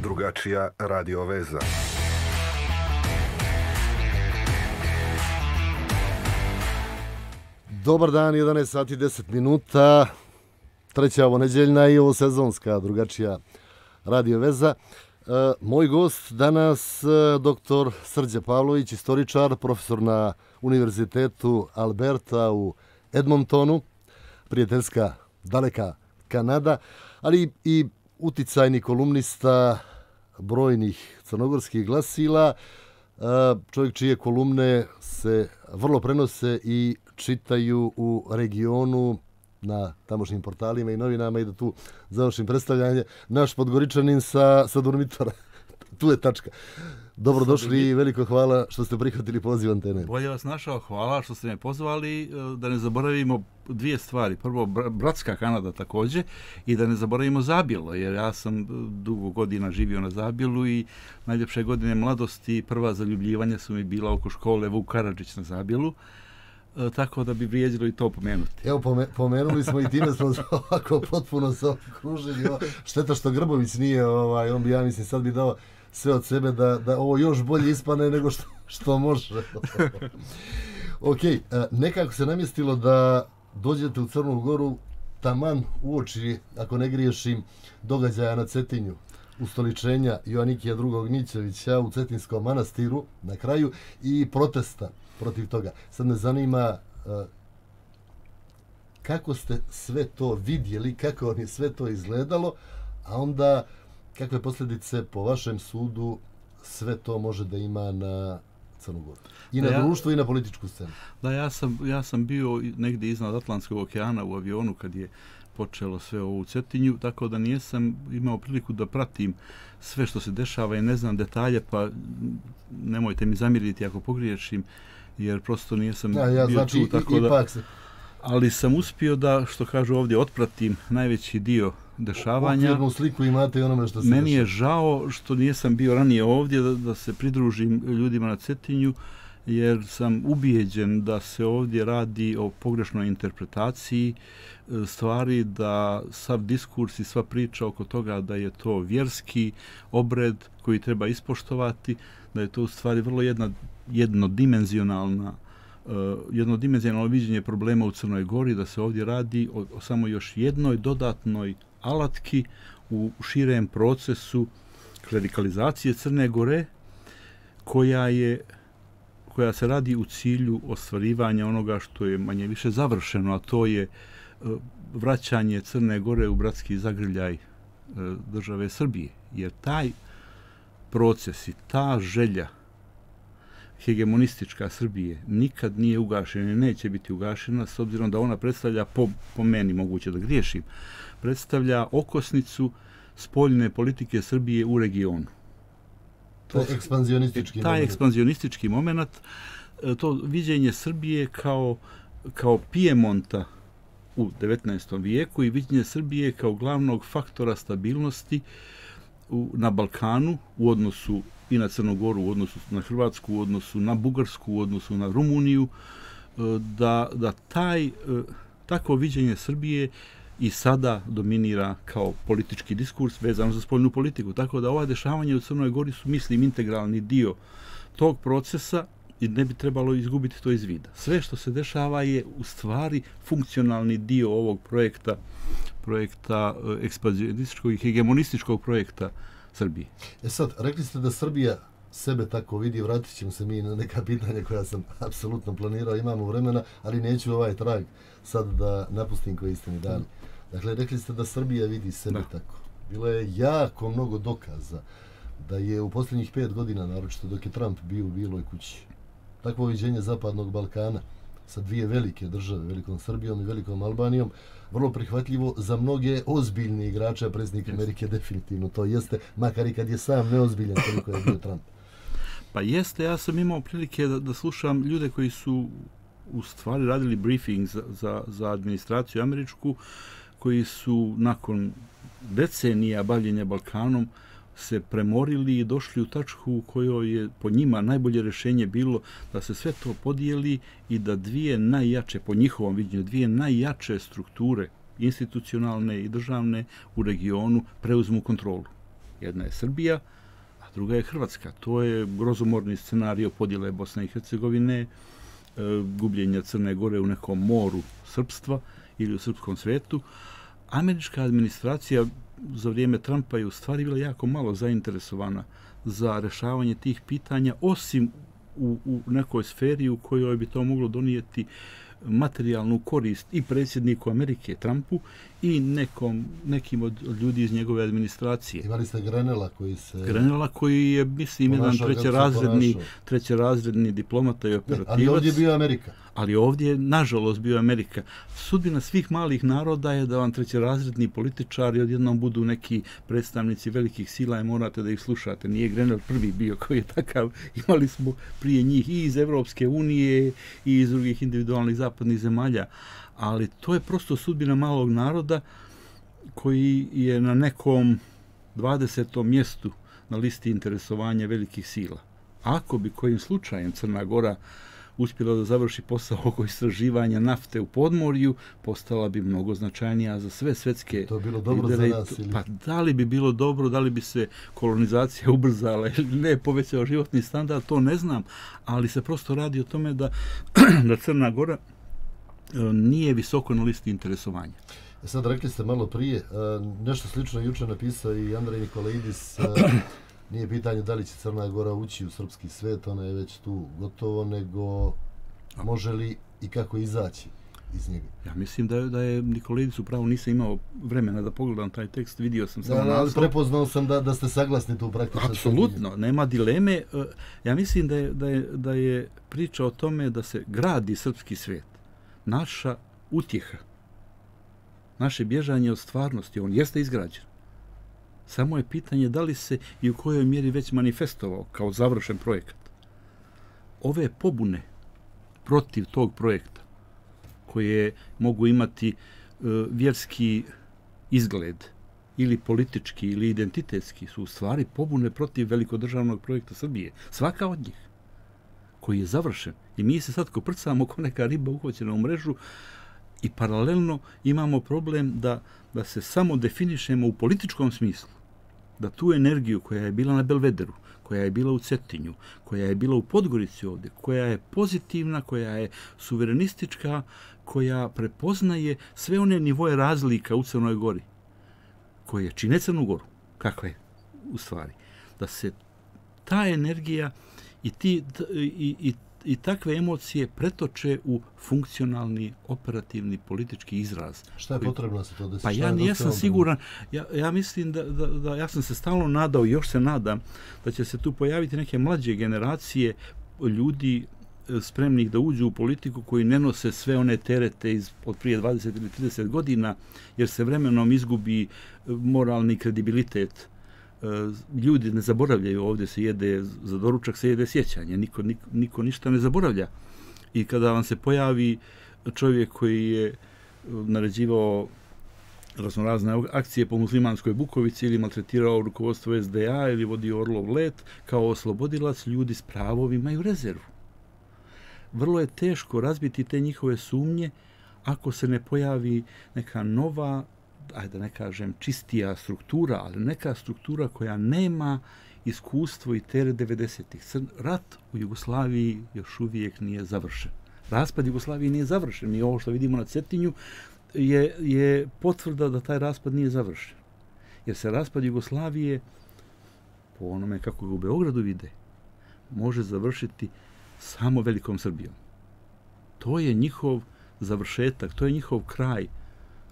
Drugačija radio veza. Dobar dan, 11 sati 10 minuta, treća ovo nedeljna i ovo sezonska drugačija radio veza. Moj gost danas, dr. Srđan Pavlović, istoričar, profesor na Univerzitetu Alberta u Edmontonu, prijateljska daleka Kanada, ali i uticajni kolumnista brojnih crnogorskih glasila, čovjek čije kolumne se vrlo prenose i čitaju u regionu na tamošnjim portalima i novinama, i da tu završim predstavljanje, naš Podgoričanin sa Durmitora. Tu je tačka. Dobrodošli i veliko hvala što ste prihvatili poziv Antene. Bolje vas našao, hvala što ste me pozvali. Da ne zaboravimo dvije stvari. Prvo, bratska Kanada također, i da ne zaboravimo Zabjelo, jer ja sam dugo godina živio na Zabjelu i najljepše godine mladosti, prva zaljubljivanja su mi bila oko škole Vuk Karadžić na Zabjelu. Tako da bi vrijedilo i to pomenuti. Evo, pomenuli smo i time smo ovako potpuno se okružili. Šteta što Grbović nije, on bi, ja mislim, sad bi dao sve od sebe da ovo još bolje ispane nego što može. Ok, nekako se namjestilo da dođete u Crnu Goru taman uoči, ako ne griješim, događaja na Cetinju, ustoličenja Joanikija II. Gnjićevića u Cetinskom manastiru na kraju i protesta protiv toga. Sad me zanima kako ste sve to vidjeli, kako vam je sve to izgledalo, a onda kakve posljedice po vašem sudu sve to može da ima na Crnu Goru? I na društvo i na političku scenu. Da, ja sam bio negdje iznad Atlantskog okeana u avionu kad je počelo sve ovo u Cetinju, tako da nisam imao priliku da pratim sve što se dešava i ne znam detalje, pa nemojte mi zamjeriti ako pogriješim, jer prosto nisam bio tu, tako da... Ali sam uspio da, što kažu ovdje, otpratim najveći dio dešavanja. Okvirnu sliku imate i onome što se Meni je žao što nisam bio ranije ovdje da se pridružim ljudima na Cetinju, jer sam ubijeđen da se ovdje radi o pogrešnoj interpretaciji stvari, da sav diskurs i sva priča oko toga da je to vjerski obred koji treba ispoštovati, da je to u stvari vrlo jednodimenzionalno viđenje problema u Crnoj Gori, da se ovdje radi o samo još jednoj dodatnoj alatki u širem procesu klerikalizacije Crne Gore, koja se radi u cilju ostvarivanja onoga što je manje više završeno, a to je vraćanje Crne Gore u bratski zagrljaj države Srbije. Jer taj proces i ta želja hegemonistička Srbije nikad nije ugašena i neće biti ugašena, s obzirom da ona predstavlja, po meni, moguće da griješim, predstavlja okosnicu spoljne politike Srbije u regionu. To je ekspanzionistički moment. Taj ekspanzionistički moment, to viđenje Srbije kao Pijemonta u 19. vijeku i viđenje Srbije kao glavnog faktora stabilnosti na Balkanu u odnosu i na Crnu Goru, u odnosu na Hrvatsku, u odnosu na Bugarsku, u odnosu na Rumuniju, da takvo viđenje Srbije i sada dominira kao politički diskurs vezan za spoljnu politiku. Tako da ova dešavanja u Crnoj Gori su, mislim, integralni dio tog procesa i ne bi trebalo izgubiti to iz vida. Sve što se dešava je u stvari funkcionalni dio ovog projekta ekspanzionističkog i hegemonističkog projekta Srbije. Sad, rekli ste da Srbija sebe tako vidi, vratit ćemo se mi na neka pitanja koja sam apsolutno planirao, imamo vremena, ali neću ovaj trag sad da napustim koji ste mi dali. Dakle, rekli ste da Srbija vidi sebe tako. Bilo je jako mnogo dokaza da je u posljednjih 5 godina, naročito dok je Trump bio u Bijeloj kući, takvo viđenje Zapadnog Balkana sa dvije velike države, velikom Srbijom i velikom Albanijom, vrlo prihvatljivo za mnoge ozbiljne igrače, a predsjednik Amerike definitivno to jeste, makar i kad je sam neozbiljan koliko je bio Trump. Pa jeste, ja sam imao prilike da slušam ljude koji su u stvari radili briefing za administraciju američku, koji su nakon decenija bavljenja Balkanom se premorili i došli u tačku u kojoj je po njima najbolje rješenje bilo da se sve to podijeli i da dvije najjače, po njihovom viđenju, dvije najjače strukture institucionalne i državne u regionu preuzmu kontrolu. Jedna je Srbija, a druga je Hrvatska. To je grozomorni scenario podjele Bosne i Hercegovine, gubljenja Crne Gore u nekom moru srpstva ili u srpskom svetu. Američka administracija za vrijeme Trumpa je u stvari bila jako malo zainteresovana za rešavanje tih pitanja, osim u nekoj sferi u kojoj bi to moglo donijeti materijalnu korist i predsjedniku Amerike Trumpu i nekim od ljudi iz njegove administracije. Imali ste Grenela koji je, mislim, jedan trećerazredni diplomata i operativac. Ali ovdje je bio Amerika. Ali ovdje je, nažalost, bio Amerika. Sudbina svih malih naroda je da vam trećerazredni političari odjednom budu neki predstavnici velikih sila i morate da ih slušate. Nije Grenell prvi bio koji je takav. Imali smo prije njih i iz Evropske unije i iz drugih individualnih zapadnih zemalja. Ali to je prosto sudbina malog naroda koji je na nekom 20. mjestu na listi interesovanja velikih sila. Ako bi kojim slučajem Crna Gora uspjela da završi posao oko istraživanja nafte u podmorju, postala bi mnogo značajnija za sve svetske. To je bilo dobro za nas? Pa da li bi bilo dobro, da li bi se kolonizacija ubrzala ili ne, povećao životni standard, to ne znam, ali se prosto radi o tome da Crna Gora nije visoko na listi interesovanja. Sad rekli ste malo prije, nešto slično juče napisao i Andrej Nikolaidis, nije pitanje da li će Crna Gora ući u srpski svet, ona je već tu gotovo, nego može li i kako izaći iz njega. Ja mislim da je Nikolaidis upravo, nisam imao vremena da pogledam taj tekst, vidio sam samo naslov. Prepoznao sam da ste saglasni tu praktično. Apsolutno, nema dileme. Ja mislim da je priča o tome da se gradi srpski svet. Naša utjeha, naše bježanje od stvarnosti, on jeste izgrađen. Samo je pitanje da li se i u kojoj mjeri već manifestovao kao završen projekat. Ove pobune protiv tog projekta, koje mogu imati vjerski izgled ili politički ili identitetski, su u stvari pobune protiv velikodržavnog projekta Srbije. Svaka od njih koji je završen. I mi se sad koprcamo kao neka riba uhvaćena u mrežu i paralelno imamo problem da se samo definišemo u političkom smislu. Da tu energiju koja je bila na Belvederu, koja je bila u Cetinju, koja je bila u Podgorici ovdje, koja je pozitivna, koja je suverenistička, koja prepoznaje sve one nivoje razlika u Crnoj Gori, koje čine Crnu Goru, kakva je u stvari. Da se ta energija i takve emocije pretoče u funkcionalni, operativni, politički izraz. Šta je potrebno da se to desi? Pa ja nisam siguran. Ja mislim da ja sam se stalno nadao i još se nadam da će se tu pojaviti neke mlađe generacije ljudi spremnih da uđu u politiku koji ne nose sve one terete od prije 20 ili 30 godina, jer se vremenom izgubi moralni kredibilitet. Ljudi ne zaboravljaju, ovdje se jede, za doručak se jede sjećanje, niko ništa ne zaboravlja. I kada vam se pojavi čovjek koji je naređivao raznorazne akcije po muslimanskoj Bukovici ili maltretirao rukovodstvo SDA ili vodio Orlov let, kao oslobodilac, ljudi s pravom imaju rezervu. Vrlo je teško razbiti te njihove sumnje ako se ne pojavi neka nova, ajde da ne kažem čistija struktura, ali neka struktura koja nema iskustvo i teret 90-ih. Rat u Jugoslaviji još uvijek nije završen. Raspad Jugoslavije nije završen. I ovo što vidimo na Cetinju je potvrda da taj raspad nije završen. Jer se raspad Jugoslavije, po onome kako ga u Beogradu vide, može završiti samo velikom Srbijom. To je njihov završetak, to je njihov kraj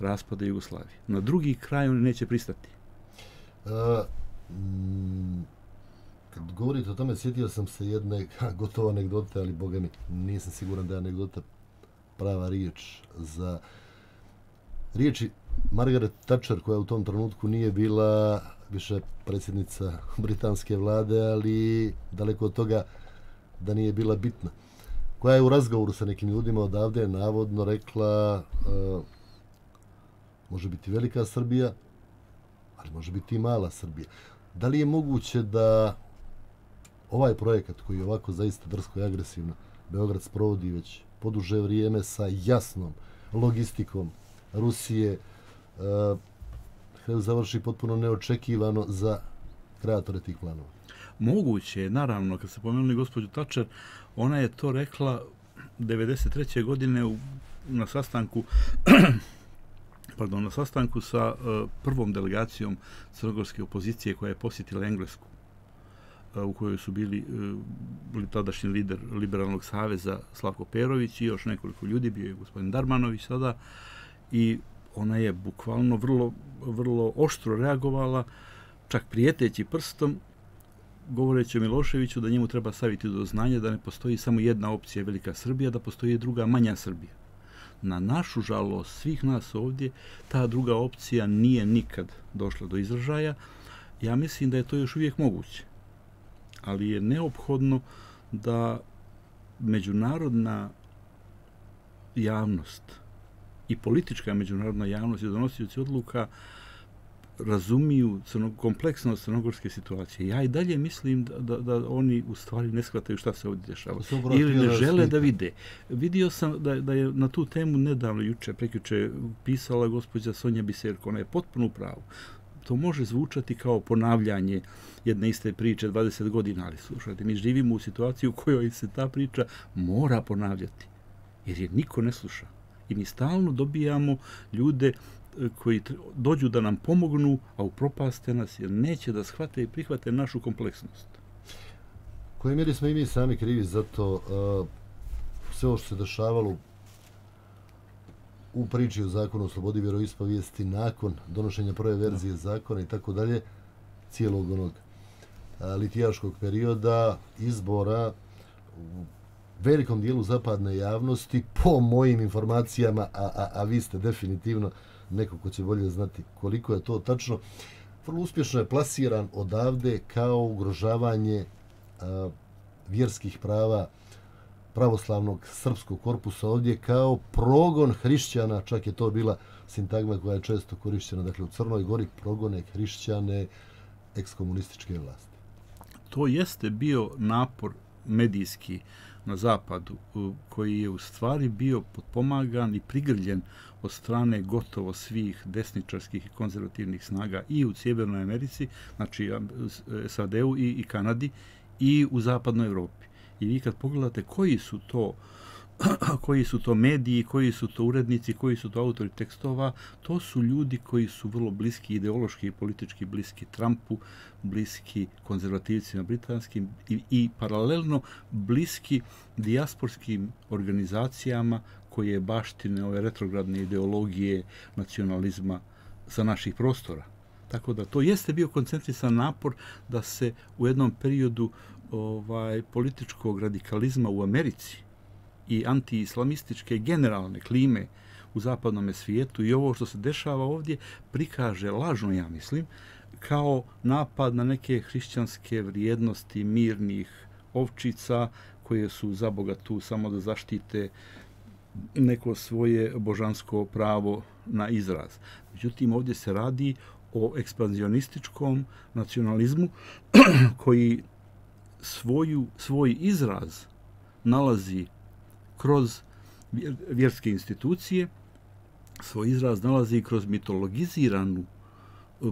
raspada Jugoslavije. Na drugi kraj oni neće pristati. Kad govorite o tome, sjetio sam se jedne gotovo anegdote, ali boga mi, nisam siguran da je anegdota prava riječ za riječi Margaret Thatcher, koja u tom trenutku nije bila više predsjednica britanske vlade, ali daleko od toga da nije bila bitna. Koja je u razgovoru sa nekim ljudima odavde navodno rekla može biti velika Srbija, ali može biti i mala Srbija. Da li je moguće da ovaj projekat koji je ovako zaista drsko i agresivno Beograd sprovodi već poduže vrijeme sa jasnom logistikom Rusije, završi potpuno neočekivano za kreatore tih planova? Moguće je, naravno, kad se pomenuli gospođu Thatcher, ona je to rekla 93. godine na sastanku na sastanku sa prvom delegacijom crnogorske opozicije koja je posjetila Englesku, u kojoj su bili tadašnji lider Liberalnog saveza Slavko Perović i još nekoliko ljudi, bio je gospodin Darmanović sada, i ona je bukvalno vrlo oštro reagovala, čak prijeteći prstom, govoreći o Miloševiću da njemu treba staviti do znanja da ne postoji samo jedna opcija Velika Srbija, da postoji druga Manja Srbija. Na našu žalost svih nas ovdje, ta druga opcija nije nikad došla do izražaja. Ja mislim da je to još uvijek moguće, ali je neophodno da međunarodna javnost i politička međunarodna javnost i donosioci odluka razumiju kompleksnost crnogorske situacije. Ja i dalje mislim da oni u stvari ne shvataju šta se ovdje dešava. Ili ne žele da vide. Vidio sam da je na tu temu nedavno, prekjuče, pisala gospođa Sonja Biserko. Ona je potpuno u pravu. To može zvučati kao ponavljanje jedne iste priče 20 godina, ali slušajte, mi živimo u situaciji u kojoj se ta priča mora ponavljati, jer je niko ne sluša. I mi stalno dobijamo ljude koji dođu da nam pomognu, a upropaste nas jer neće da shvate i prihvate našu kompleksnost. U kojoj mjeri smo i mi sami krivi za to sve ovo što se dešavalo u priči o zakonu o slobodi vjeroispovijesti nakon donošenja prve verzije zakona i tako dalje, cijelog onog litijaškog perioda, izbora u velikom dijelu zapadne javnosti, po mojim informacijama, a vi ste definitivno neko ko će bolje znati koliko je to tačno, vrlo uspješno je plasiran odavde kao ugrožavanje vjerskih prava pravoslavnog srpskog korpusa ovdje, kao progon hrišćana, čak je to bila sintagma koja je često korišćena, dakle u Crnoj Gori progone hrišćane ekskomunističke vlasti. To jeste bio napor medijski na zapadu, koji je u stvari bio potpomagan i prigrljen od strane gotovo svih desničarskih i konzervativnih snaga i u Sjevernoj Americi, znači SAD-u i Kanadi, i u zapadnoj Evropi. I vi kad pogledate koji su to mediji, koji su to urednici, koji su to autori tekstova, to su ljudi koji su vrlo bliski ideološki i politički bliski Trumpu, bliski konzervativcima britanskim i paralelno bliski dijasporskim organizacijama koje baštine ove retrogradne ideologije nacionalizma sa naših prostora. Tako da to jeste bio koncentrisan napor da se u jednom periodu političkog radikalizma u Americi i anti-islamističke generalne klime u zapadnom svijetu i ovo što se dešava ovdje prikaže lažno, ja mislim, kao napad na neke hrišćanske vrijednosti mirnih ovčica koje su za Boga tu samo da zaštite neko svoje božansko pravo na izraz. Međutim, ovdje se radi o ekspanzionističkom nacionalizmu koji svoj izraz nalazi kroz vjerske institucije, svoj izraz nalazi kroz mitologiziranu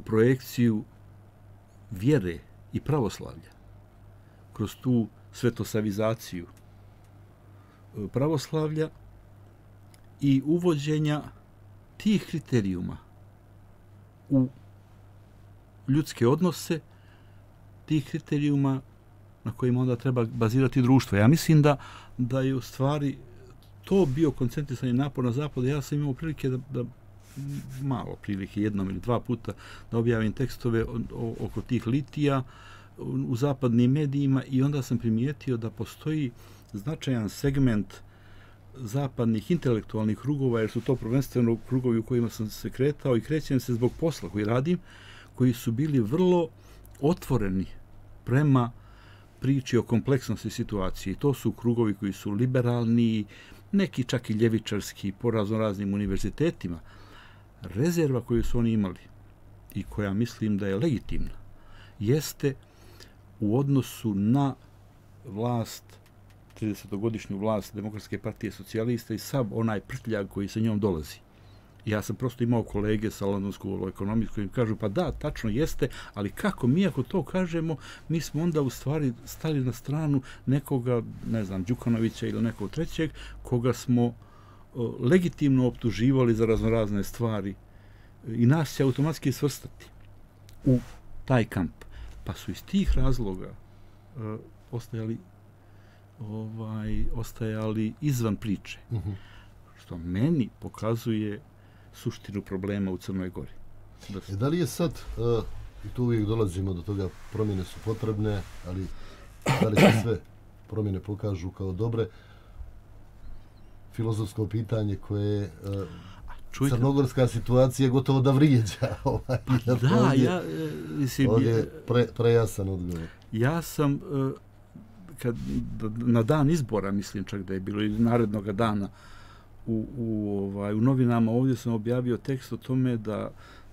projekciju vjere i pravoslavlja, kroz tu svetosavizaciju pravoslavlja i uvođenja tih kriterijuma u ljudske odnose, tih kriterijuma na kojima onda treba bazirati društvo. Ja mislim da je u stvari to bio koncentrisani napor na zapadu. Ja sam imao prilike da malo prilike, jednom ili dva puta, da objavim tekstove oko tih litija u zapadnim medijima i onda sam primijetio da postoji značajan segment zapadnih intelektualnih krugova, jer su to prvenstveno krugovi u kojima sam se kretao i krećem se zbog posla koji radim, koji su bili vrlo otvoreni prema priči o kompleksnosti situacije. To su krugovi koji su liberalni, neki čak i ljevičarski po raznoraznim univerzitetima. Rezerva koju su oni imali i koja mislim da je legitimna, jeste u odnosu na vlast, 30-godišnju vlast Demokratske partije socijalista i sav onaj prtljag koji sa njom dolazi. Ja sam prosto imao kolege sa London School of Economics koji mi kažu, pa da, tačno jeste, ali kako mi ako to kažemo, mi smo onda u stvari stali na stranu nekoga, ne znam, Đukanovića ili nekog trećeg, koga smo legitimno optuživali za raznorazne stvari i nas će automatski svrstati u taj kamp. Pa su iz tih razloga ostajali izvan priče. Što meni pokazuje suštinu problema u Crnoj Gori. Da li je sad, i tu uvijek dolazimo do toga, promjene su potrebne, ali da li se sve promjene pokažu kao dobre? Filozofsko pitanje koje crnogorska situacija gotovo da vrijeđa. Ovdje prejasan odgovor. Ja sam, na dan izbora, mislim čak da je bilo, ili narednog dana, u novinama ovdje sam objavio tekst o tome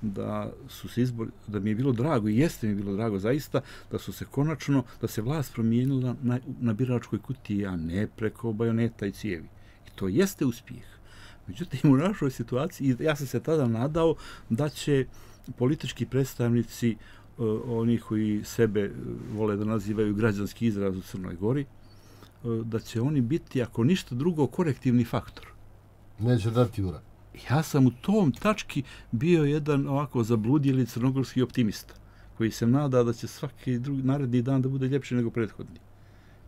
da su se izbori, da mi je bilo drago i jeste mi bilo drago zaista da su se konačno, da se vlast promijenila na biračkoj kutiji, a ne preko bajoneta i cijevi. I to jeste uspjeh. Međutim, u našoj situaciji, ja sam se tada nadao da će politički predstavnici, oni koji sebe vole da nazivaju građanski izraz u Crnoj Gori, da će oni biti, ako ništa drugo, korektivni faktor. Neće dati ura. Ja sam u tom tački bio jedan ovako zabludjeli crnogorski optimista, koji se nada da će svaki naredni dan da bude ljepši nego prethodni.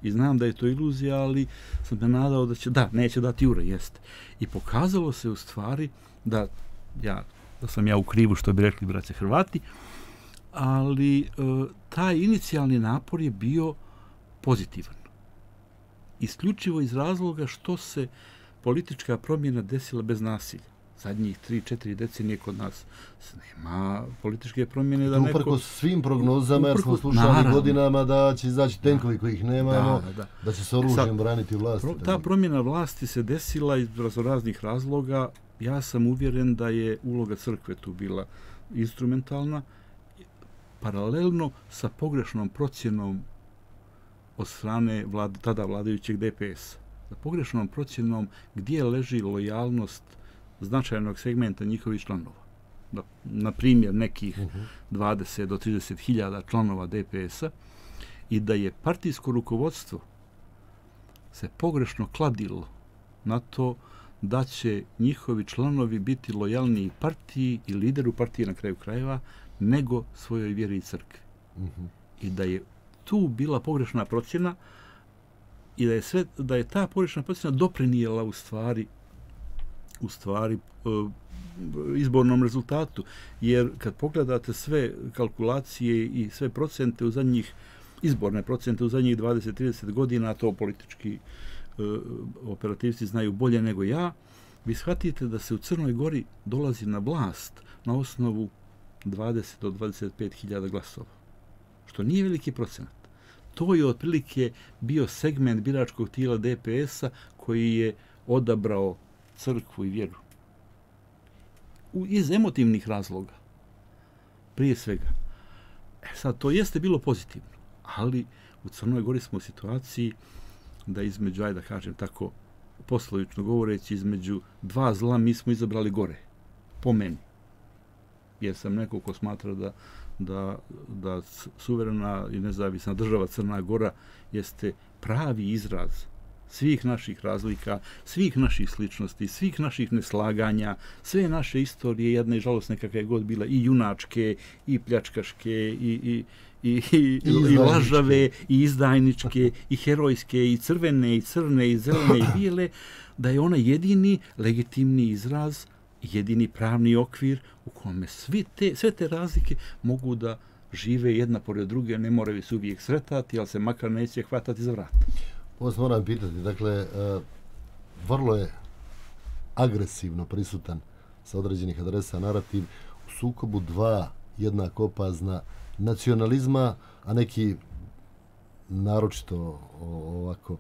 I znam da je to iluzija, ali sam me nadao da će, neće dati ura, jeste. I pokazalo se u stvari da sam ja u krivu, što bi rekli braće Hrvati, ali taj inicijalni napor je bio pozitivan. Isključivo iz razloga što se politička promjena desila bez nasilja. Zadnjih 3-4 decenije kod nas nema političke promjene da neko... Uprkos svim prognozama, jer smo slušali godinama da će izaći tenkovi kojih nemamo, da će se oružjem braniti vlast. Ta promjena vlasti se desila iz raznih razloga. Ja sam uvjeren da je uloga crkve tu bila instrumentalna, paralelno sa pogrešnom procjenom od strane tada vladajućeg DPS-a. Sa pogrešnom procjenom gdje leži lojalnost značajnog segmenta njihovih članova. Na primjer, nekih 20 do 30 hiljada članova DPS-a, i da je partijsko rukovodstvo se pogrešno kladilo na to da će njihovi članovi biti lojalniji partiji i lideru partije na kraju krajeva nego svojoj vjeri i crkvi. I da je tu bila pogrešna procjena i da je ta pogrešna procjena doprinijela u stvari izbornom rezultatu. Jer kad pogledate sve kalkulacije i sve procente izborne procente u zadnjih 20-30 godina, to politički operativci znaju bolje nego ja, vi shvatite da se u Crnoj Gori dolazi na vlast na osnovu 20 do 25 hiljada glasova. Što nije veliki procenat. To je otprilike bio segment biračkog tijela DPS-a koji je odabrao crkvu i vjeru. Iz emotivnih razloga. Prije svega. Sad, to jeste bilo pozitivno, ali u Crnoj Gori smo u situaciji da između, da kažem tako, poslovično govoreći, između dva zla mi smo izabrali gore. Po meni. Jer sam neko ko smatra da suverena i nezavisna država Crna Gora jeste pravi izraz svih naših razlika, svih naših sličnosti, svih naših neslaganja, sve naše istorije, jedna i žalosne kakve je god bila, i junačke, i pljačkaške, i lažave, i izdajničke, i herojske, i crvene, i crne, i zelene, i bijele, da je ona jedini legitimni izraz, jedini pravni okvir u kome sve te razlike mogu da žive jedna pored druge, ne moraju se uvijek sretati, ali se makar neće hvatati za vrat. Ovo se moram pitati, dakle, vrlo je agresivno prisutan sa određenih adresa narativ u sukobu dva jednako opazna nacionalizma, a neki naročito ovako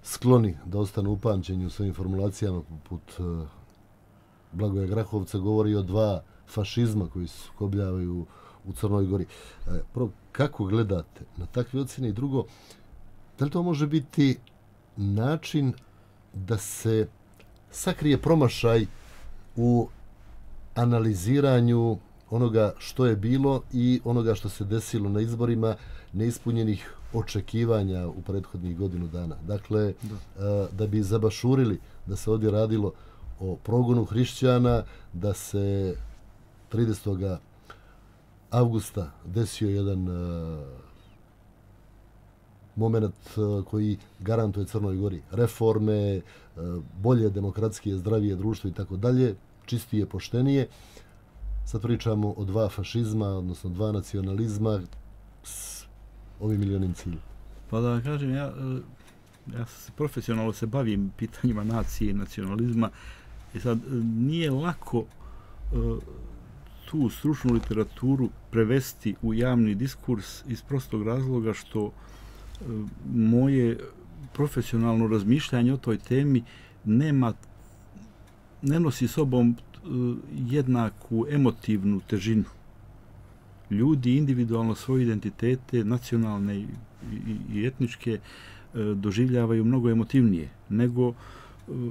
skloni da ostanu upamćeni u svojim formulacijama, poput Blagoja Grahovca, govori o dva fašizma koji se sukobljavaju u Crnoj Gori. Prvo, kako gledate na takve ocjene? I drugo, da li to može biti način da se sakrije promašaj u analiziranju onoga što je bilo i onoga što se desilo na izborima, neispunjenih očekivanja u prethodnih godinu dana. Dakle, da bi zabašurili da se ovdje radilo o progonu hrišćana, da se 30. avgusta desio jedan moment koji garantuje Crnoj Gori reforme, bolje, demokratskije, zdravije društvo i tako dalje, čistije, poštenije. Sad pričamo o dva fašizma, odnosno dva nacionalizma s ovim milionim ciljem. Pa da kažem, ja profesionalno se bavim pitanjima nacije i nacionalizma i sad nije lako tu stručnu literaturu prevesti u javni diskurs iz prostog razloga što moje profesionalno razmišljanje o toj temi ne nosi sobom jednaku emotivnu težinu. Ljudi individualno svoje identitete, nacionalne i etničke, doživljavaju mnogo emotivnije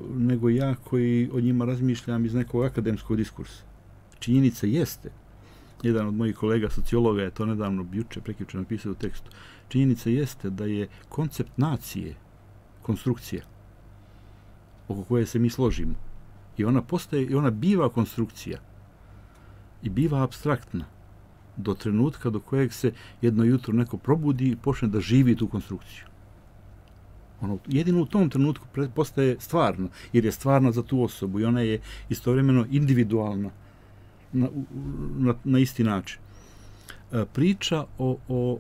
nego ja koji o njima razmišljam iz nekog akademskog diskursa. Činjenica jeste, jedan od mojih kolega sociologa je to nedavno prekjuče napisao u tekstu, činjenica jeste da je koncept nacije konstrukcija oko koje se mi složimo. I ona biva konstrukcija i biva apstraktna do trenutka do kojeg se jedno jutro neko probudi i počne da živi tu konstrukciju. Jedino u tom trenutku postaje stvarno, jer je stvarna za tu osobu i ona je istovremeno individualna na isti način. Priča o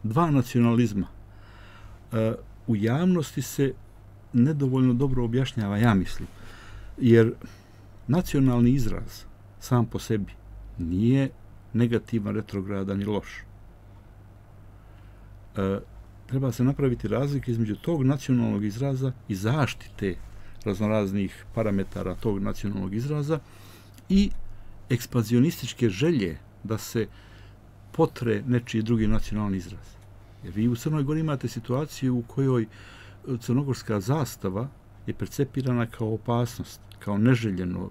dva nacionalizma u javnosti se nedovoljno dobro objašnjava, ja mislim. Jer nacionalni izraz sam po sebi nije negativan, retrogradan i loš. Treba se napraviti razlike između tog nacionalnog izraza i zaštite raznoraznih parametara tog nacionalnog izraza i ekspanzionističke želje da se potre nečiji drugi nacionalni izraz. Jer vi u Crnoj Gori imate situaciju u kojoj crnogorska zastava je percepirana kao opasnost, kao neželjeno.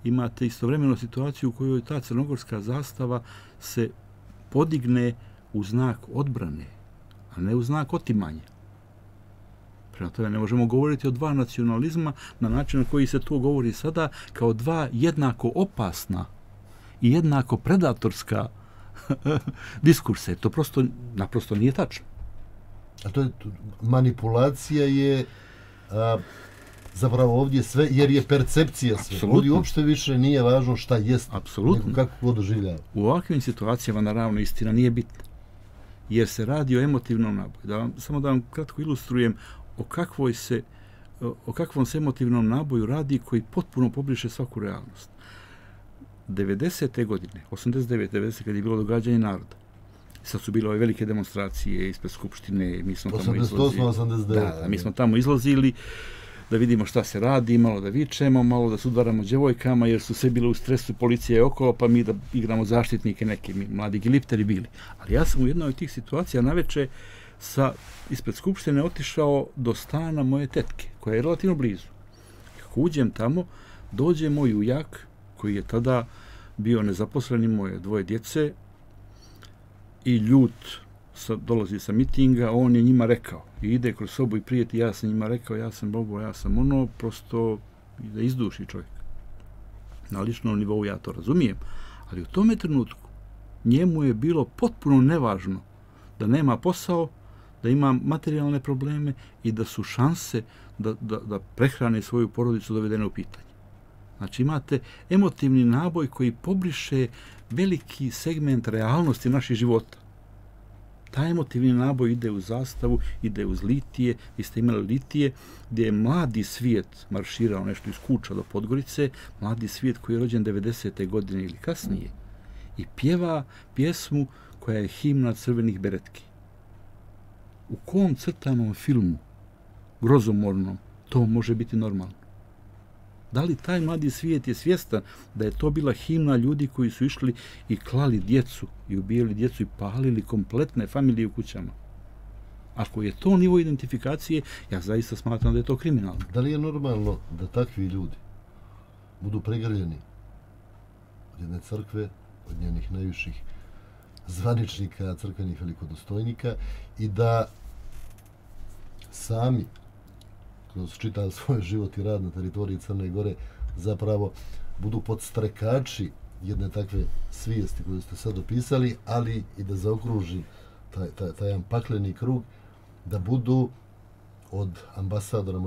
Imate istovremeno situaciju u kojoj ta crnogorska zastava se podigne u znak odbrane, a ne u znak otimanja. Prema tome ne možemo govoriti o dva nacionalizma na način na koji se to govori sada kao dva jednako opasna i jednako predatorska diskurse. To naprosto nije tačno. A to je manipulacija je zapravo ovdje sve, jer je percepcija sve. Apsolutno. Ovdje uopšte više nije važno šta jest, Apsolutno. nego kako ko doživljava. U ovakvim situacijama, naravno, istina nije bitna. Jer se radi o emotivnom naboju. Samo da vam kratko ilustrujem o kakvom se emotivnom naboju radi koji potpuno pobriše svaku realnost. 90. godine, 89. 90. kad je bilo događanje naroda, sad su bile ove velike demonstracije ispred Skupštine, mi smo tamo izlazili. 88. 89. Da, mi smo tamo izlazili da vidimo šta se radi, malo da vičemo, malo da se udvaramo djevojkama, jer su sve bile u stresu, policija je okolo, pa mi da igramo zaštitnike, neki mladi gilipteri bili. Ali ja sam u jednoj od tih situacija naveče ispred Skupštine otišao do stana moje tetke, koja je relativno blizu. Kako uđem tamo, dođe moj ujak, koji je tada bio nezaposleni, moje dvoje djece, i ljut dolazi sa mitinga, on je njima rekao, i ide kroz sobu i prijeti, ja sam njima rekao, ja sam Bobo, ja sam ono, prosto da izduši čovjek. Na ličnom nivou ja to razumijem, ali u tome trenutku njemu je bilo potpuno nevažno da nema posao, da ima materijalne probleme i da su šanse da prehrane svoju porodicu dovedene u pitanje. Znači imate emotivni naboj koji pobriše veliki segment realnosti naših života. Taj emotivni naboj ide u zastavu, ide uz litije. Vi ste imali litije gdje je mladi svijet marširao nešto iz Kuča do Podgorice, mladi svijet koji je rođen 90. godine ili kasnije i pjeva pjesmu koja je himna crvenih beretki. U kom crtanom filmu, grozomornom, to može biti normalno? Da li taj mladi svijet je svjestan da je to bila himna ljudi koji su išli i klali djecu i ubijali djecu i palili kompletne familije u kućama? Ako je to nivo identifikacije, ja zaista smatram da je to kriminalno. Da li je normalno da takvi ljudi budu pregrljeni od jedne crkve, od njenih najviših zvaničnika, crkvenih velikodostojnika i da sami kroz čitav svoj život i rad na teritoriji Crne Gore zapravo budu podstrekači jedne takve svijesti koju ste sad opisali, ali i da zaokruži taj jedan pakleni krug, da budu od ambasadora,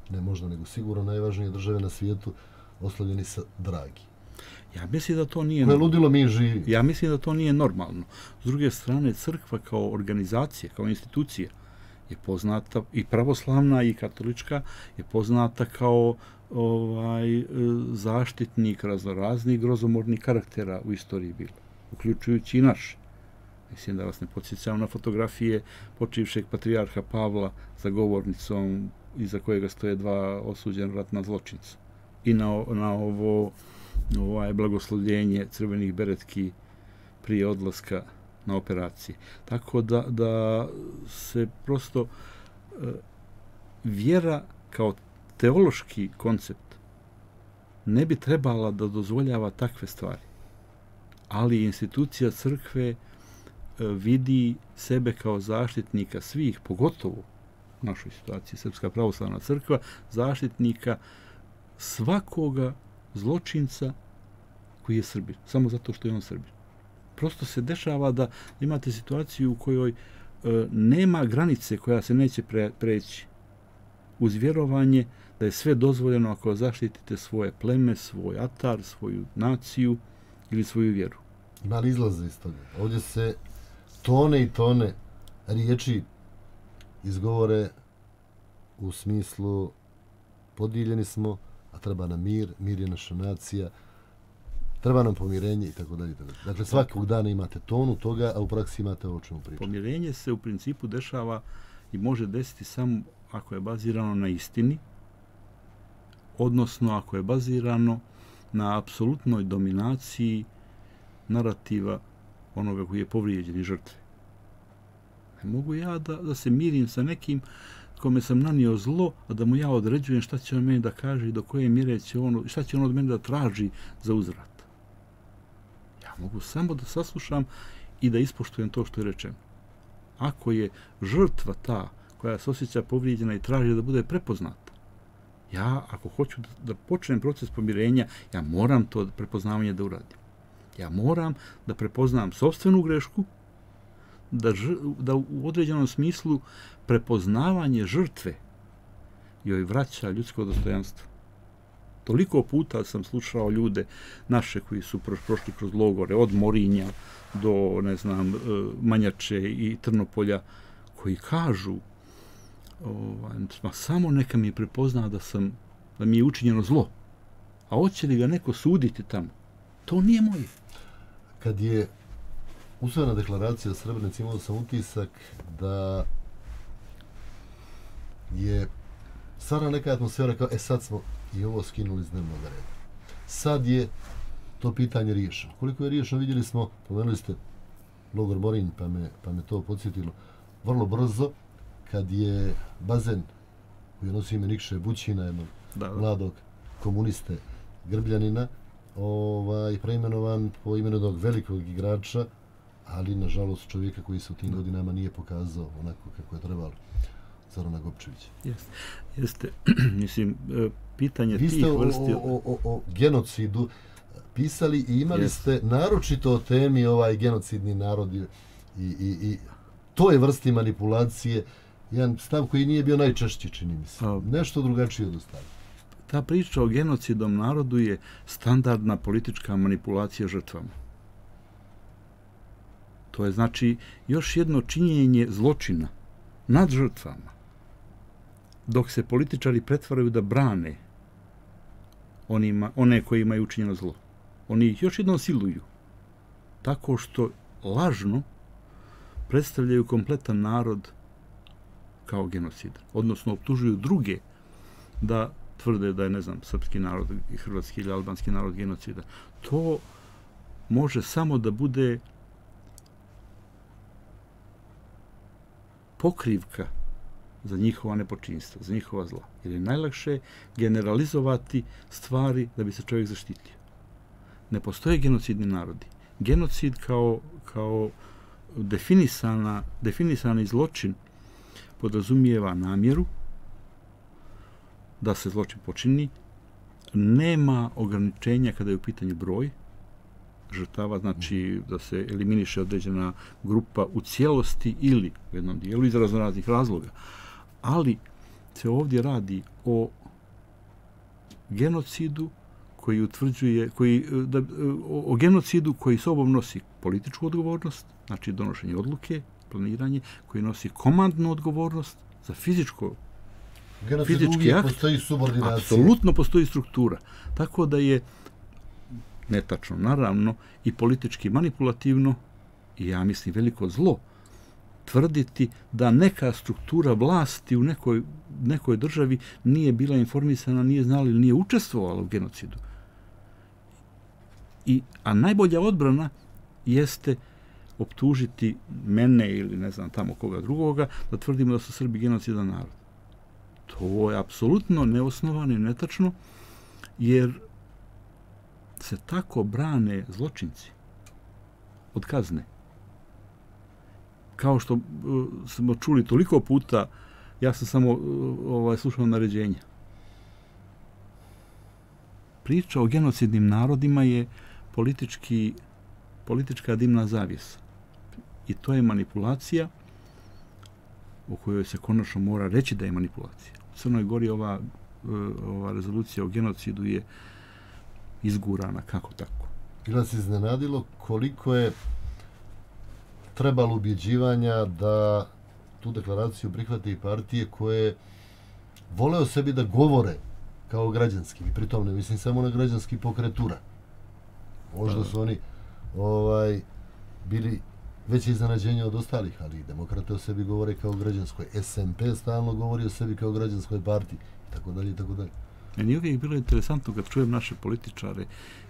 nego sigurno najvažnije države na svijetu, oslovljeni sa dragi. Ja mislim da to nije ludilo mi živi. Ja mislim da to nije normalno. S druge strane, crkva kao organizacija, kao institucija je poznata, i pravoslavna i katolička je poznata kao zaštitnik raznoraznih grozomornih karaktera u istoriji bilo, uključujući i naš. Mislim da vas ne podsjećam na fotografije počivšeg patrijarha Pavla za govornicom iza kojega stoje dva osuđena ratna zločinca. I na ovo blagoslovljenje crvenih beretki prije odlaska na operacije. Tako da se prosto vjera kao teološki koncept ne bi trebala da dozvoljava takve stvari. Ali institucija crkve vidi sebe kao zaštitnika svih, pogotovo u našoj situaciji Srpska pravoslavna crkva, zaštitnika svakoga zločinca koji je Srbin, samo zato što je on Srbin. Prosto se dešava da imate situaciju u kojoj nema granice koja se neće preći uz vjerovanje da je sve dozvoljeno ako zaštitite svoje pleme, svoj atar, svoju naciju ili svoju vjeru. Ima li izlaze iz toga? Ovdje se tone i tone riječi izgovore u smislu podijeljeni smo, a treba nam mir, mir je naša nacija, treba nam pomirenje i tako dalje. Dakle, svakog dana imate tonu toga, a u praksi imate ovo čemu pričati. Pomirenje se u principu dešava i može desiti samo ako je bazirano na istini, odnosno ako je bazirano na apsolutnoj dominaciji narativa onoga koji je povrijeđen i žrtve. Ne mogu ja da se mirim sa nekim kome sam nanio zlo, a da mu ja određujem šta će on meni da kaže i do koje mjere će on, šta će on od mene da traži za uzvrat. Ja mogu samo da saslušam i da ispoštujem to što je rečeno. Ako je žrtva ta koja se osjeća povrijeđena i traži da bude prepoznata, ja ako hoću da počnem proces pomirenja, ja moram to prepoznavanje da uradim. Ja moram da prepoznam sopstvenu grešku, da u određenom smislu prepoznavanje žrtve joj vraća ljudsko dostojanstvo. Toliko puta sam slušao ljude naše koji su prošli kroz logore, od Morinja do, ne znam, Manjače i Trnopolja, koji kažu samo neka mi prepozna da mi je učinjeno zlo. A hoće li ga neko suditi tamo? To nije moje. Kad je usvojena deklaracija o Srebrenici, imao sam utisak da je stvarno neka atmosfera kao, sad smo i ovo skinuli iz dnevnog reda. Sad je to pitanje riješeno. Koliko je riješeno, vidjeli smo, pomenuli ste logor Morinj, pa me to podsjetilo vrlo brzo, kad je bazen koji nosi ime Nikše Bućina, jednog mladog komuniste Grbljanina, preimenovan po imenu jednog velikog igrača, ali nažalost čovjeka koji se u tim godinama nije pokazao onako kako je trebalo, Zorana Gopčevića. Jeste. Mislim, pitanje tih vrsti... Vi ste o genocidu pisali i imali ste naročito o temi genocidni narod i toj vrsti manipulacije, jedan stav koji nije bio najčešći, čini mi se. Nešto drugačije od ostalo. Ta priča o genocidnom narodu je standardna politička manipulacija žrtvama. To je znači još jedno činjenje zločina nad žrtvama, dok se političari pretvaraju da brane one koji imaju učinjeno zlo. Oni ih još jednom siluju, tako što lažno predstavljaju kompletan narod kao genocid, odnosno optužuju druge da tvrde da je, ne znam, srpski narod i hrvatski ili albanski narod genocida. To može samo da bude pokrivka za njihova nepočinstva, za njihova zla. Jer je najlakše generalizovati stvari da bi se čovjek zaštitio. Ne postoje genocidni narodi. Genocid kao definisani zločin podrazumijeva namjeru da se zločin počini, nema ograničenja kada je u pitanju broj žrtava, znači da se eliminiše određena grupa u cijelosti ili u jednom dijelu iz raznih razloga. Ali se ovdje radi o genocidu koji utvrđuje, o genocidu koji sobom nosi političku odgovornost, znači donošenje odluke, planiranje, koji nosi komandnu odgovornost za fizički akt. Postoji subordinacija. Apsolutno postoji struktura. Tako da je netačno, naravno, i politički manipulativno, i ja mislim veliko zlo, tvrditi da neka struktura vlasti u nekoj državi nije bila informisana, nije znala ili nije učestvovala u genocidu. A najbolja odbrana jeste optužiti mene ili ne znam tamo koga drugoga da tvrdimo da su Srbi genocidan narod. To je apsolutno neosnovano i netačno, jer se tako brane zločinci od kazne. Kao što smo čuli toliko puta, ja sam samo slušao naređenja. Priča o genocidnim narodima je politička dimna zavjesa. I to je manipulacija o kojoj se konačno mora reći da je manipulacija. U Crnoj Gori ova rezolucija o genocidu je izgurana kako tako. Ili nas iznenadilo koliko je trebalo ubjeđivanja da tu deklaraciju prihvate i partije koje vole o sebi da govore kao građanski. I pritom ne mislim samo na građanski pokretura. Možda su oni bili veće iznenađenje od ostalih, ali demokrate o sebi govore kao građanskoj. SMP stalno govori o sebi kao građanskoj partiji, i tako dalje, i tako dalje. Meni je uvijek bilo interesantno kad čujem naše političare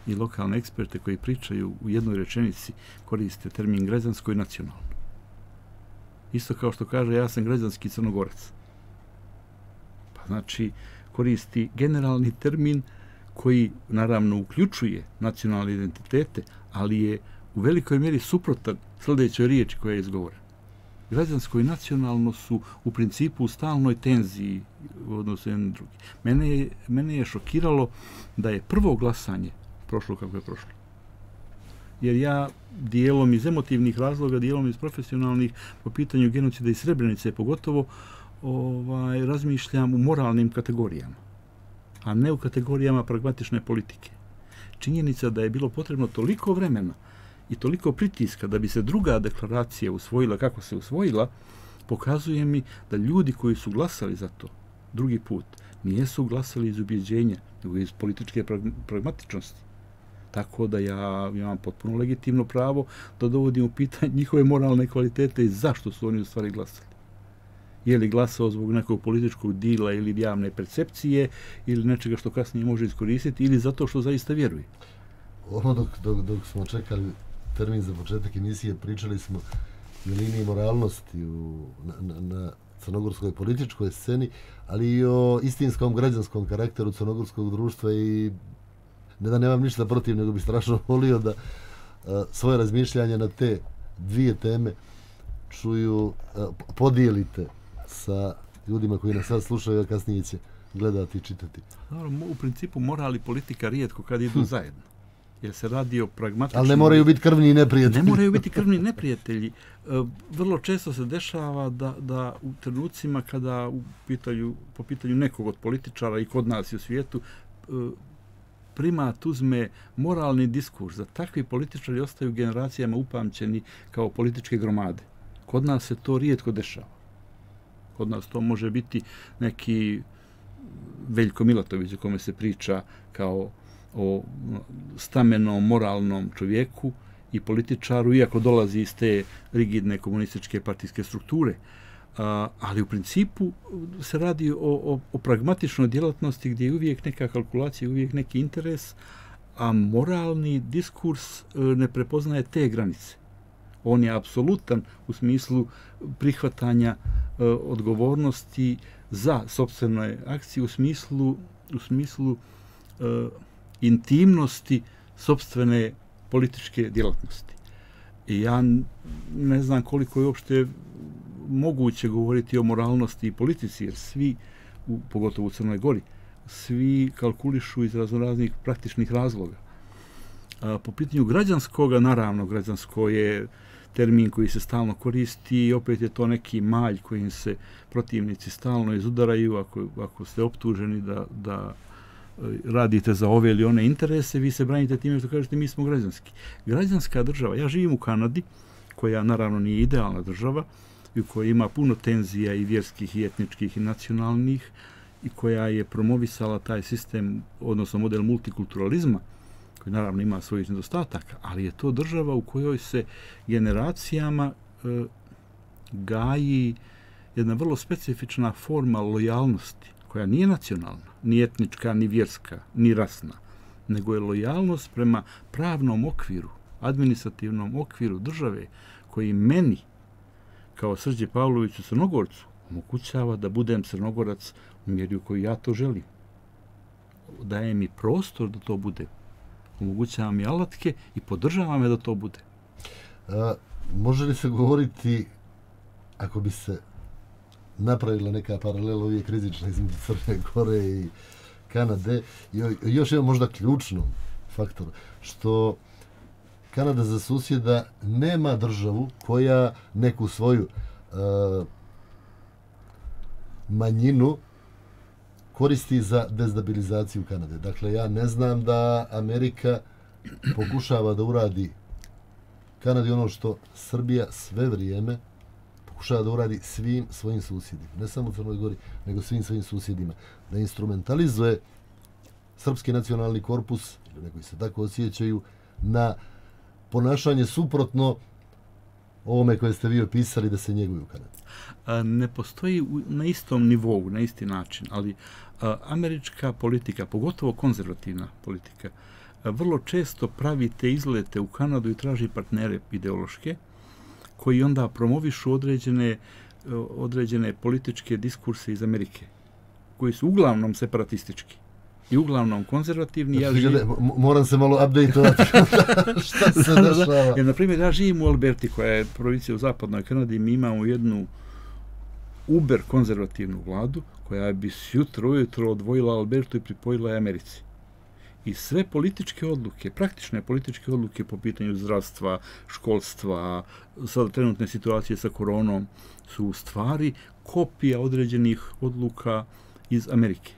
i lokalne eksperte koji pričaju u jednoj rečenici, koriste termin građansko i nacionalno. Isto kao što kaže ja sam građanski Crnogorac. Pa znači koristi generalni termin koji naravno uključuje nacionalne identitete, ali je u velikoj mjeri suprotan sljedećoj riječi koja je izgovorena. Građansko i nacionalno su u principu u stalnoj tenziji u odnosu jedan drugi. Mene je šokiralo da je prvo glasanje prošlo kako je prošlo. Jer ja dijelom iz emotivnih razloga, dijelom iz profesionalnih po pitanju genocida i Srebrenice pogotovo razmišljam u moralnim kategorijama, a ne u kategorijama pragmatične politike. Činjenica da je bilo potrebno toliko vremena i toliko pritiska da bi se druga deklaracija usvojila kako se usvojila, pokazuje mi da ljudi koji su glasali za to drugi put nijesu glasali iz ubjeđenja, nego iz političke pragmatičnosti. Tako da ja imam potpuno legitimno pravo da dovodim u pitanje njihove moralne kvalitete i zašto su oni u stvari glasali. Je li glasao zbog nekog političkog dila ili javne percepcije ili nečega što kasnije može iskoristiti ili zato što zaista vjeruje. Ono dok smo čekali termin za početak emisije, pričali smo i o liniji moralnosti na crnogorskoj političkoj sceni, ali i o istinskom građanskom karakteru crnogorskog društva i ne da nemam ništa protiv, nego bi strašno volio da svoje razmišljanje na te dvije teme podijelite sa ljudima koji nas sad slušaju, a kasnije će gledati i čitati. U principu moral i politika rijetko kad idu zajedno. Jer se radi o pragmatičnom... Ali ne moraju biti krvni neprijatelji. Ne moraju biti krvni neprijatelji. Vrlo često se dešava da u trenucima kada po pitanju nekog od političara i kod nas i u svijetu primat uzme moralni diskurs, da takvi političari ostaju generacijama upamćeni kao političke gromade. Kod nas se to rijetko dešava. Kod nas to može biti neki Veljko Milatović o kome se priča kao o stamenom, moralnom čovjeku i političaru, iako dolazi iz te rigidne komunističke partijske strukture. Ali u principu se radi o pragmatičnoj djelatnosti gdje je uvijek neka kalkulacija, uvijek neki interes, a moralni diskurs ne prepoznaje te granice. On je apsolutan u smislu prihvatanja odgovornosti za sopstvene akcije, u smislu intimnosti sopstvene političke djelatnosti. I ja ne znam koliko je uopšte moguće govoriti o moralnosti i politici, jer svi, pogotovo u Crnoj Gori, svi kalkulišu iz raznoraznih praktičnih razloga. Po pitanju građanskoga, naravno, građansko je termin koji se stalno koristi i opet je to neki malj kojim se protivnici stalno izudaraju. Ako ste optuženi da radite za ove ili one interese, vi se branite time što kažete mi smo građanski. Građanska država, ja živim u Kanadi, koja naravno nije idealna država i u kojoj ima puno tenzija i vjerskih i etničkih i nacionalnih i koja je promovisala taj sistem, odnosno model multikulturalizma, koji naravno ima svojih nedostataka, ali je to država u kojoj se generacijama gaji jedna vrlo specifična forma lojalnosti, koja nije nacionalna, ni etnička, ni vjerska, ni rasna, nego je lojalnost prema pravnom okviru, administrativnom okviru države, koji meni, kao Srđe Pavloviću Crnogorcu, omogućava da budem Crnogorac u mjeri u kojoj ja to želim. Daje mi prostor da to bude. Omogućava mi alatke i podržava me da to bude. Može li se govoriti, ako bi se napravila neka paralela uvijek rizična između Crne Gore i Kanade, i još jedan možda ključnom faktoru, što Kanada za susjeda nema državu koja neku svoju manjinu koristi za destabilizaciju Kanade. Dakle, ja ne znam da Amerika pokušava da uradi Kanadi ono što Srbija sve vrijeme pokušava da uradi svim svojim susjedima. Ne samo u Crnoj Gori, nego svim svojim susjedima. Da instrumentalizuje srpski nacionalni korpus, ili neki se tako osjećaju, na ponašanje suprotno ovome koje ste vi opisali da se njeguju u Kanadi. Ne postoji na istom nivou, na isti način, ali američka politika, pogotovo konzervativna politika, vrlo često pravi te izlete u Kanadu i traži partnere ideološke, koji onda promovišu određene političke diskurse iz Amerike, koji su uglavnom separatistički i uglavnom konzervativni. Moram se malo update-ovati šta se dešava. Jer, na primjer, ja živim u Alberti, koja je provincija u zapadnoj Kanadi, i mi imamo jednu uber konzervativnu vladu, koja bi jutro ujutro odvojila Albertu i pripojila je Americi. I sve političke odluke, praktične političke odluke po pitanju zdravstva, školstva, sada trenutne situacije sa koronom, su u stvari kopija određenih odluka iz Amerike.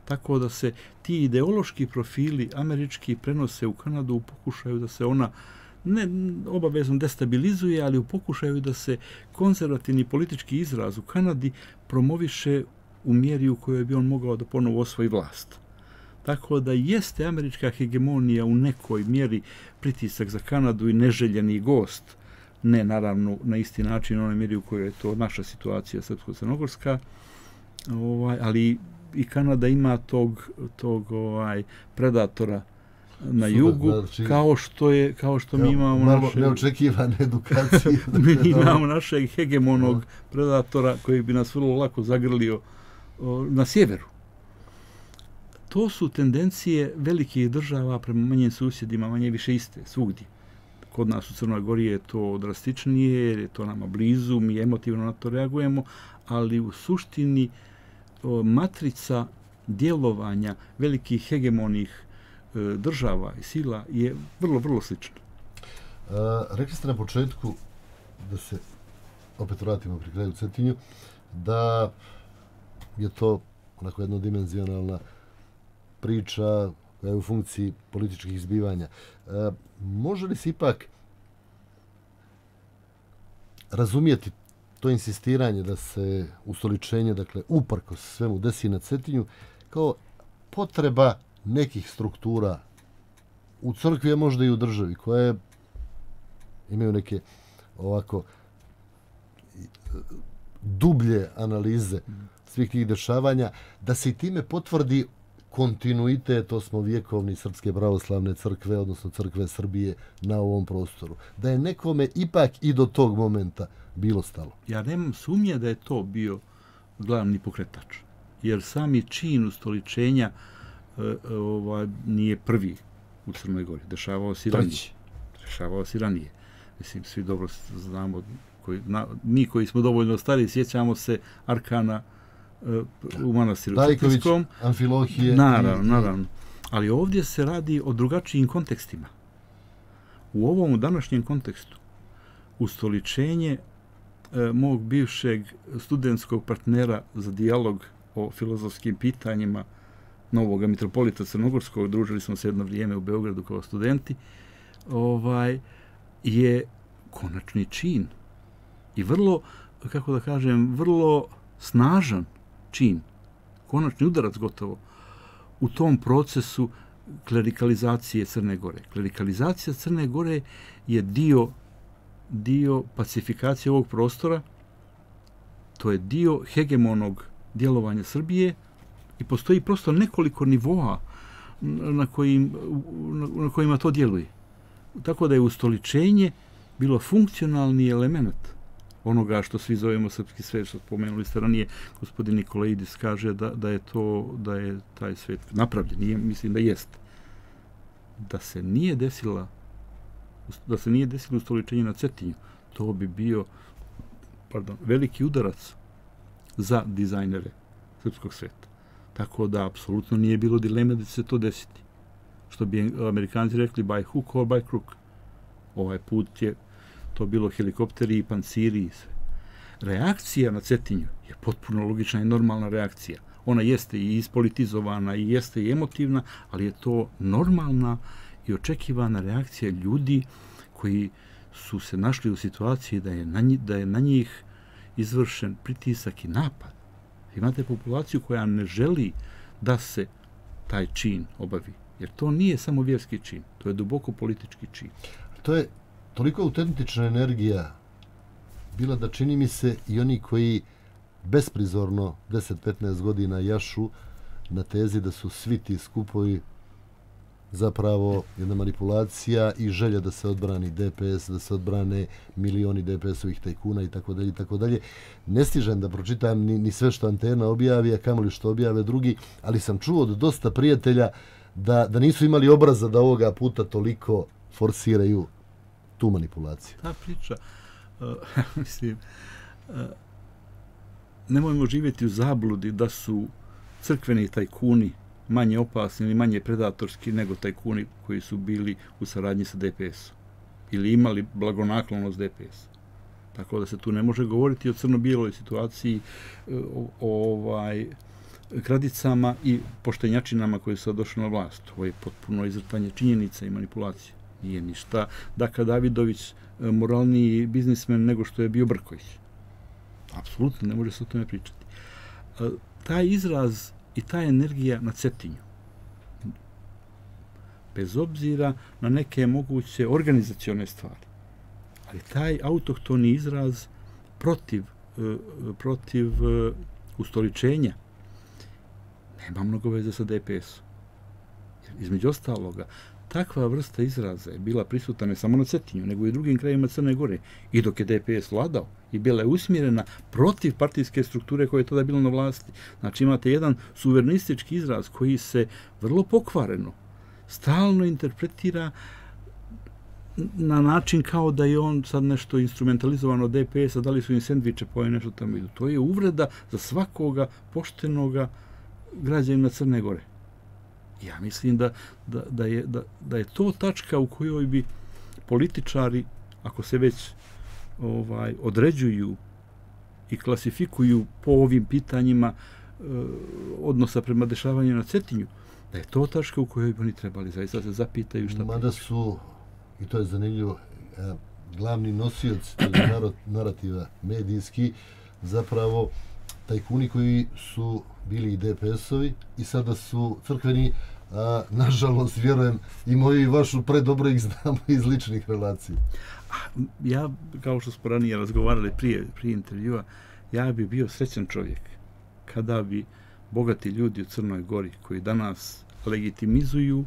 Tako da se ti ideološki profili američki prenose u Kanadu u pokušaju da se ona ne obavezno destabilizuje, ali u pokušaju da se konzervativni politički izraz u Kanadi promoviše u mjeri u kojoj bi on mogao da ponovo osvoji vlast. Tako da jeste američka hegemonija u nekoj mjeri pritisak za Kanadu i neželjeni gost, ne naravno na isti način u onoj mjeri u kojoj je to naša situacija srpsko-crnogorska, ali i Kanada ima tog predatora na jugu, znači, kao što mi imamo naše neočekivane edukacije. Mi imamo našeg hegemonog predatora koji bi nas vrlo lako zagrlio na sjeveru. To su tendencije velikih država prema manjim susjedima, manje više iste, svugdje. Kod nas u Crnoj Gori je to drastičnije, jer je to nama blizu, mi emotivno na to reagujemo, ali u suštini matrica djelovanja velikih hegemonih država i sila je vrlo, vrlo slična. Rekli ste na početku, da se opet vratimo pri kraju Cetinju, da je to onako jednodimenzionalna priča koja je u funkciji političkih zbivanja. Može li se ipak razumijeti to insistiranje da se ustoličenje, dakle, uprkos svemu desi na Cetinju, kao potreba nekih struktura u crkvi, a možda i u državi, koje imaju neke ovako dublje analize svih tih dešavanja, da se i time potvrdi kontinuitet osmovjekovni Srpske pravoslavne crkve, odnosno crkve Srbije na ovom prostoru. Da je nekome ipak i do tog momenta bilo stalo. Ja nemam sumnje da je to bio glavni pokretač, jer sami čin ustoličenja nije prvi. u Crnoj Gori. Dešavao se i ranije. Dešavao se i ranije. Mislim, svi dobro znamo, mi koji smo dovoljno stari, sjećamo se Arkana u manastiru Cetinskom. Amfilohije. Naravno. Ali ovdje se radi o drugačijim kontekstima. U ovom današnjem kontekstu ustoličenje mog bivšeg studentskog partnera za dijalog o filozofskim pitanjima, novog mitropolita Crnogorskog, družili smo se jedno vrijeme u Beogradu kao studenti, je konačni čin i vrlo, kako da kažem, vrlo snažan čin, konačni udarac gotovo u tom procesu klerikalizacije Crne Gore. Klerikalizacija Crne Gore je dio pacifikacije ovog prostora, to je dio hegemonog djelovanja Srbije i postoji prosto nekoliko nivoa na kojima to djeluje. Tako da je ustoličenje bilo funkcionalni element onoga što svi zovemo srpski svet, što spomenuli ste ranije, gospodin Nikolaidis kaže da je taj svet napravljen. Mislim da jeste. Da se nije desilo ustoličenje na Cetinju, to bi bio veliki udarac za dizajnere srpskog sveta. Tako da apsolutno nije bilo dileme da će se to desiti. Što bi Amerikanci rekli by hook or by crook. Ovaj put je to bilo helikopteri i panciri i sve. Reakcija na Cetinju je potpuno logična i normalna reakcija. Ona jeste i ispolitizovana i jeste i emotivna, ali je to normalna i očekivana reakcija ljudi koji su se našli u situaciji da je na njih izvršen pritisak i napad. Imate populaciju koja ne želi da se taj čin obavi. Jer to nije samo vjerski čin, to je duboko politički čin. To je toliko autentična energija bila da čini mi se i oni koji besprizorno 10-15 godina jašu na tezi da su svi ti skupovi zapravo jedna manipulacija i želja da se odbrani DPS, da se odbrane milioni DPS-ovih tajkuna i tako dalje i tako dalje. Ne stižem da pročitam ni sve što Antena objavi, a kamoli što objave drugi, ali sam čuo od dosta prijatelja da nisu imali obraza da ovoga puta toliko forsiraju tu manipulaciju. Ta priča, mislim, nemojmo živjeti u zabludi da su crkveni tajkuni manje opasni ili manje predatorski nego tajkuni koji su bili u saradnji sa DPS-om ili imali blagonaklonost DPS. Tako da se tu ne može govoriti o crno-bijeloj situaciji, o kradicama i poštenjačinama koji su došli na vlast. Ovo je potpuno izvrtanje činjenica i manipulacije. Nije ništa Daka Davidović moralniji biznismen nego što je bio Brković. Apsolutno ne može se o tome pričati. Taj izraz i ta energija na Cetinju, bez obzira na neke moguće organizacione stvari, ali taj autohtoni izraz protiv ustoličenja nema mnogo veze sa DPS-om. Između ostaloga, takva vrsta izraza je bila prisutna ne samo na Cetinju, nego i u drugim krajevima Crne Gore. I dok je DPS vladao i bila je usmjerena protiv partijske strukture koja je tada bila na vlasti. Znači imate jedan suverenistički izraz koji se vrlo pokvareno, stalno interpretira na način kao da je on sad nešto instrumentalizovano DPS-a, da li su im sendviče poje nešto tamo idu. To je uvreda za svakoga poštenoga građanina Crne Gore. Ja mislim da je to tačka u kojoj bi političari, ako se već određuju i klasifikuju po ovim pitanjima odnosa prema dešavanju na Cetinju, da je to tačka u kojoj bi oni trebali zaista se zapitaju šta mada su, i to je zanimljivo, glavni nosioci narativa medijski, zapravo tajkuni koji su bili i DPS-ovi i sada su crkveni, a nažalost, vjerujem, i moju i vašu predobro ih znamo iz ličnih relacija. Ja, kao što smo ranije razgovarali prije intervjua, ja bi bio srećan čovjek kada bi bogati ljudi u Crnoj Gori koji danas legitimizuju,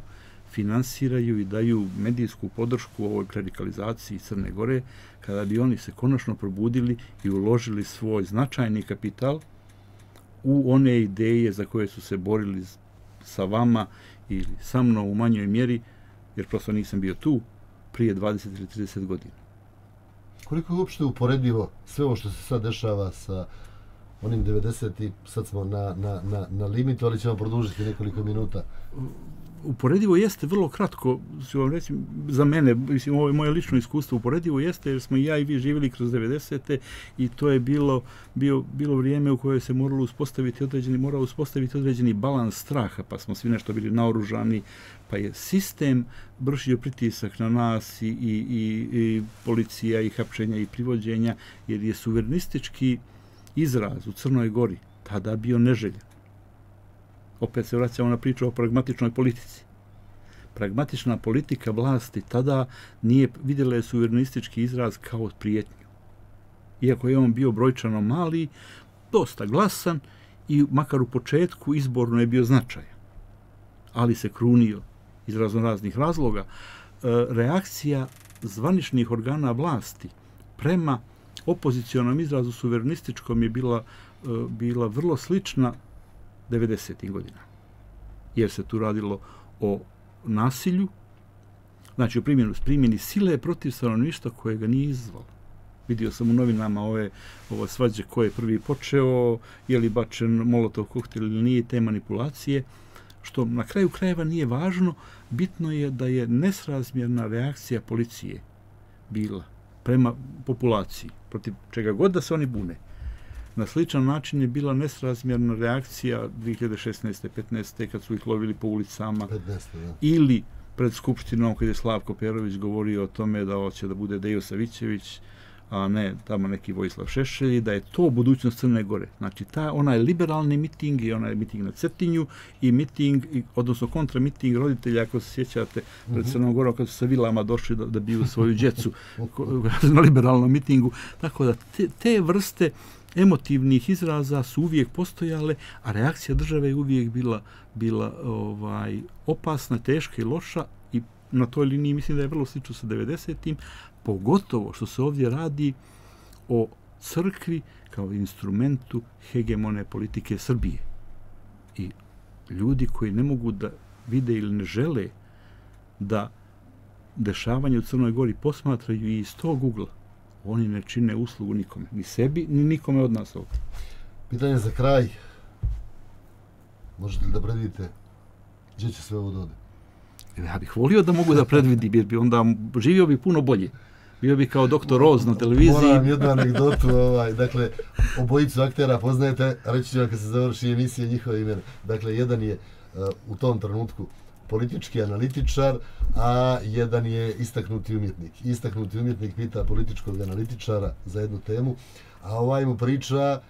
finansiraju i daju medijsku podršku ovoj klerikalizaciji Crne Gore, kada bi oni se konačno probudili i uložili svoj značajni kapital u one ideje za koje su se borili sa vama ili sa mnom u manjoj mjeri jer prosto nisam bio tu prije 20 ili 30 godina. Koliko je uopšte uporedivo sve ovo što se sad dešava sa onim 90. Sad smo na limitu, ali ćemo produžiti nekoliko minuta. Uporedivo jeste vrlo kratko, ću vam reći, za mene, mislim, ovo je moje lično iskustvo, uporedivo jeste jer smo i ja i vi živjeli kroz 90. i to je bilo vrijeme u kojoj se morao uspostaviti određeni balans straha, pa smo svi nešto bili naoružani, pa je sistem vršio pritisak na nas i policija i hapšenja i privođenja, jer je suverenistički izraz u Crnoj Gori tada bio neželjen. Opet se vraćamo na priču o pragmatičnoj politici. Pragmatična politika vlasti tada nije vidjela je suverenistički izraz kao prijetnju. Iako je on bio brojčano mali, dosta glasan i makar u početku izborno je bio značajan. Ali se krunio iz raznoraznih razloga. Reakcija zvaničnih organa vlasti prema opozicionom izrazu suverenističkom je bila vrlo slična 90. godina. Jer se tu radilo o nasilju, znači o primjeni sile protiv stanovništva koje ga nije izazvalo. Vidio sam u novinama ovo svađe ko je prvi počeo, je li bačen molotov koktel ili nije, te manipulacije, što na kraju krajeva nije važno, bitno je da je nesrazmjerna reakcija policije bila prema populaciji, protiv čega god da se oni bune. Na sličan način je bila nesrazmjerna reakcija 2016. 15. kad su ih lovili po ulicama 15, da. Ili pred Skupštinom kad je Slavko Perović govorio o tome da hoće da bude Dejo Savićević, a ne tamo neki Vojislav Šešelj, i da je to budućnost Crne Gore. Znači, onaj liberalni miting i onaj miting na Cetinju i miting, odnosno kontramiting roditelja, ako se sjećate, pred Crnom Gorom kad su sa vilama došli da biju svoju djecu na liberalnom mitingu. Tako da te vrste emotivnih izraza su uvijek postojale, a reakcija države je uvijek bila opasna, teška i loša, i na toj liniji mislim da je vrlo slično sa 90-im, pogotovo što se ovdje radi o crkvi kao instrumentu hegemone politike Srbije. I ljudi koji ne mogu da vide ili ne žele da dešavanje u Crnoj Gori posmatraju i iz tog ugla, oni ne čine uslugu nikome, ni sebi, ni nikome od nas ovdje. Pitanje za kraj. Možete li da predvidite gdje će sve ovo dode? Ja bih volio da mogu da predvidim, jer bi onda živio bi puno bolje. Bio bi kao doktor Roz na televiziji. Moram jednu anegdotu. Dakle, obojicu aktera poznajete, reći ću vam kad se završi emisija njihove imena. Dakle, jedan je u tom trenutku politički analitičar, a jedan je istaknuti umjetnik. Istaknuti umjetnik pita političkog analitičara za jednu temu, a ovaj mu priča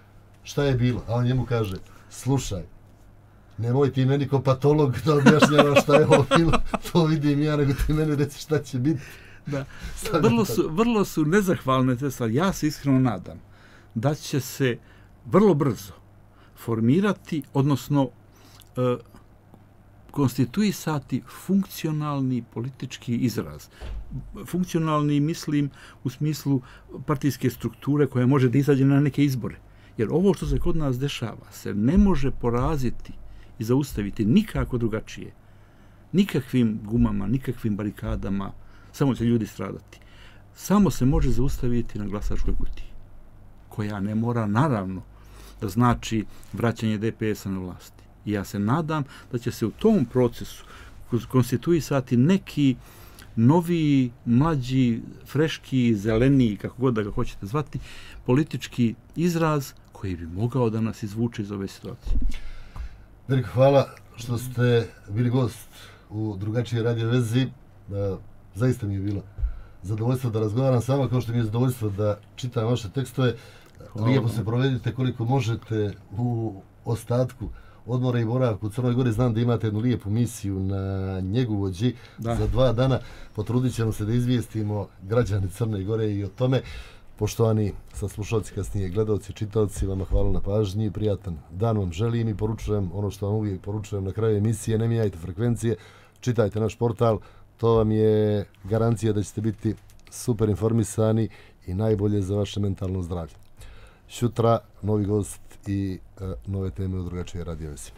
šta je bilo. A on njemu kaže, slušaj, nemoj ti meni ko patolog da objašnjava šta je ovo bilo, to vidim ja, nego ti meni reci šta će biti. Da. Vrlo su nezahvalne te stvari. Ja se iskreno nadam da će se vrlo brzo formirati, odnosno konstituisati funkcionalni politički izraz. Funkcionalni mislim u smislu partijske strukture koja može da izađe na neke izbore. Jer ovo što se kod nas dešava se ne može poraziti i zaustaviti nikako drugačije. Nikakvim gumama, nikakvim barikadama, samo će ljudi stradati. Samo se može zaustaviti na glasačkoj kutiji, koja ne mora, naravno, da znači vraćanje DPS-a na vlasti. I ja se nadam da će se u tom procesu konstituisati neki novi, mlađi, freški, zeleniji, kako god da ga hoćete zvati, politički izraz koji bi mogao da nas izvuče iz ove situacije. Veliko hvala što ste bili gost u drugačijoj radio vezi. Zaista mi je bilo zadovoljstvo da razgovaram s vama, kao što mi je zadovoljstvo da čitam vaše tekstove. Lijepo se provedite koliko možete u ostatku odmora i boravka u Crnoj Gori. Znam da imate jednu lijepu misiju na Njegovođi za 2 dana. Potrudit ćemo se da izvijestimo građane Crne Gore i o tome. Poštovani saslušalci, kasnije gledalci, čitaoci, vama hvala na pažnji i prijatan dan vam želim i poručujem ono što vam uvijek poručujem na kraju emisije: ne mijenjajte frekvencije, čitajte naš portal, to vam je garancija da ćete biti super informisani i najbolje za vaše mentalno zdravlje. Sutra novi gost i nove teme u drugačijoj radio vezi.